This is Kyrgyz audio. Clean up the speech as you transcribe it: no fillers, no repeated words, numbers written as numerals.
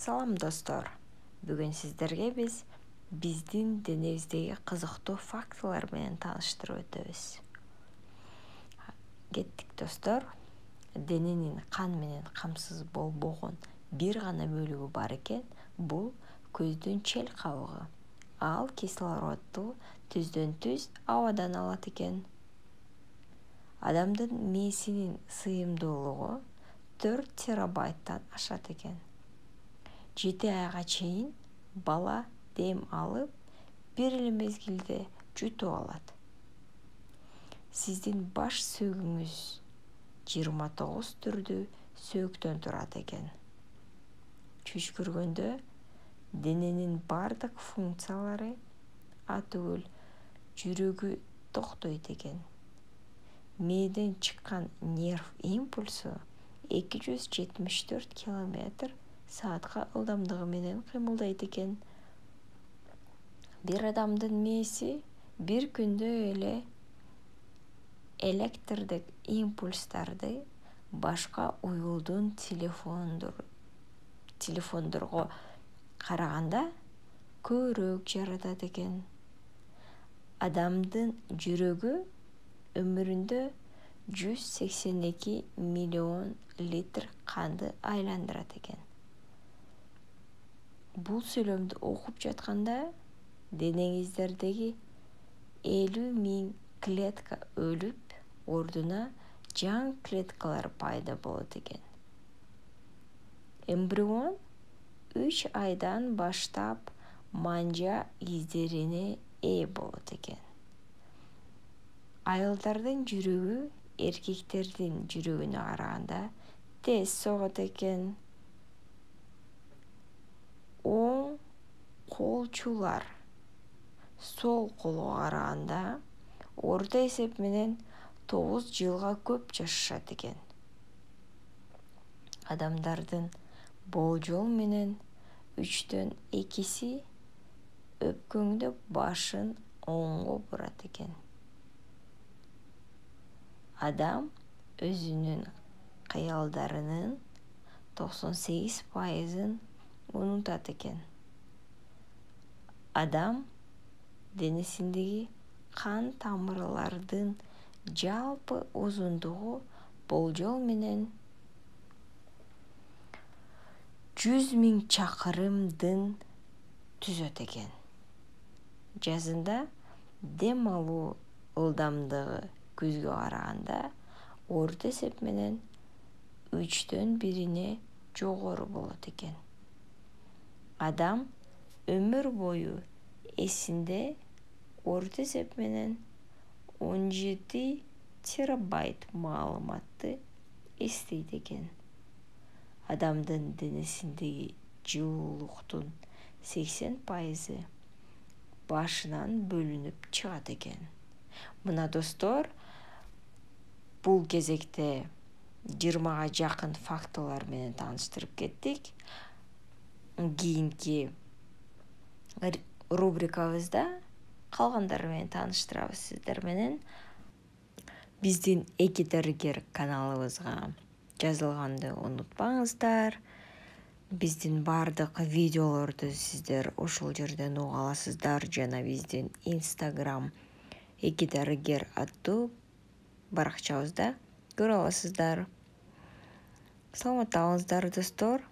Салам достор. Бүгүн сиздерге биздин денебиздеги кызыктуу фактылар менен тааныштырып өтөбүз. Кеттик достор. Дененин кан менен камсыз болбогон бир гана бөлүгү бар экен. Бул көздүн чел кабыгы. Ал кислородду түздөн-түз абадан алат экен. Адамдын мээсинин сыйымдуулугу 4 терабайттан ашат экен. 7 айга чейин бала дем алып, бир эле мезгилде жутуп алат. Сиздин баш сөөгүңүз 29 түрдүү сөөктөн турат экен. Түшкүргөндө дененин бардык функциялары атүгүл жүрөгү токтойт экен. Мээден чыккан нерв импульсу 274 км/саатка ылдамдыгы менен кыймылдайт экен. Бир адамдын мээси бир күндө эле электрдик импульстарды башка уюлдун телефондорго караганда көбүрөөк жаратат экен. Адамдын жүрөгү өмүрүндө 182 миллион литр канды айландырат экен. Бул сүйлөмдү окуп жатканда денеңиздердеги 50.000 клетка өлүп, ордуна жаңы клеткалар пайда болот экен. Эмбрион 3 айдан баштап манжа издерине ээ болот экен. Айылдардын жүрөгү эркектердин жүрөгүнө караганда тез согот экен. Оң колчулар сол колго караганда орто эсеп менен 9 жылга көп жашашат экен. Адамдардын болжол менен 3-төн 2-си өпкөңдөп башын оңго бурат экен. Адам өзүнүн кыялдарынын 98%-ын унутат экен. Адам денесиндеги кан тамырлардын жалпы узундугу болжол менен 100.000 чакырымдын түзөт экен. Жазында дем алуу ылдамдыгы күзгө караганда орто эсеп менен 3-төн 1-ине жогору болот экен. Адам өмүр бою эсинде орто эсеп менен 17 терабайт маалыматты эстейт экен. Адамдын денесиндеги жылуулуктун 80% башынан бөлүнүп чыгат экен. Мына достор, бул кезекте 20га жакын фактылар менен тааныштырып кеттик. Кийинки рубрикабызда калгандары менен тааныштырабыз сиздер менен. Биздин Эки дарыгер каналыбызга жазылганды унутпаңыздар. Биздин бардык видеолорду сиздер ушул жерден уга аласыздар жана биздин Instagram Эки дарыгер аттуу баракчабызда көрө аласыздар. Саламатта калыңыздар достор.